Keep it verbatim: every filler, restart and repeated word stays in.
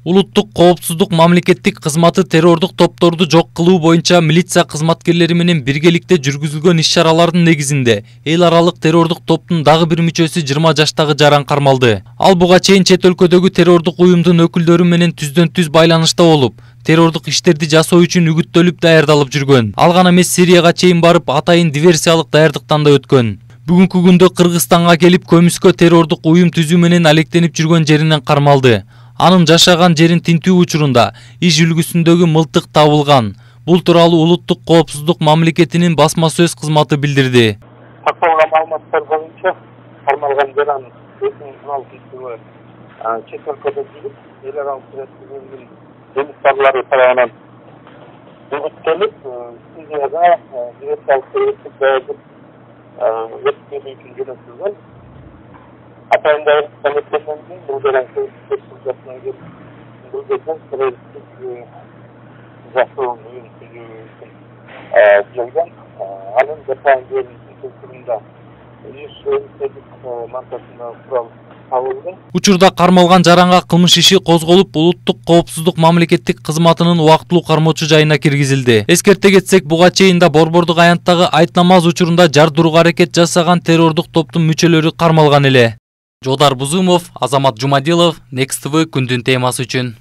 Улуттук коопсуздук мамлекеттик кызматы террордук топторду жок кылуу боюнча милиция кызматкерлери менен биргеликте жүргүзүлгөн иш-чаралардын негизинде эл аралык террордук топтун дагы бир мүчөсү жыйырма жаштагы жаран кармалды. Ал буга чейин чет өлкөдөгү террордук уюмдун өкүлдөрү менен түздөн түз байланышта болуп, террордук иштерди жасоо үчүн үгүттөлүп даярдалып жүргөн. Ал гана эмес, Сирияга чейин барып, атайын диверсиялык даярдыктан да өткөн. Бүгүнкү күндө Кыргызстанга келип, көмүскө террордук уюм түзүү менен алектенип жүргөн жеринен кармалды. Анын жашаган жерин тинтүү учурунда иш үлгүсүндөгү мылтык табылган. Бул тууралуу Улуттук коопсуздук мамлекетинин басма сөз кызматы билдирди. Такталган маалыматтар боюнча кармалган жаран эки миң он алтынчы жылы чет өлкөдө жүрүп, эл аралык терроризмдин жумуштарлары тарабынан үгүттөлүп, Сирияга диверсиялык террористтик даярдык өткөрүү үчүн жөнөтүлгөн. Атайын даярдыктан өткөндөн кийин бул жаран Кыргызстана келип, бул жерден террористтик жасоо уюм түзүү үчүн келген. Анын жашаган жеринин текшерүүндө иш маркасында курал табылды. Учурда кармалган жаранга кылмыш иши козголуп, Улуттук коопсуздук мамлекеттик кызматынын убактылуу кармоочу жайына киргизилди. Эскерте кетсек, буга чейин да Борбордук аянттагы айт намаз учурунда жардырууга аракет жасаган террордук топтун мүчөлөрү кармалган эле. Жодар Бузумов, Азамат Жумадилов, Next тэ вэ күндүн темасы үчүн.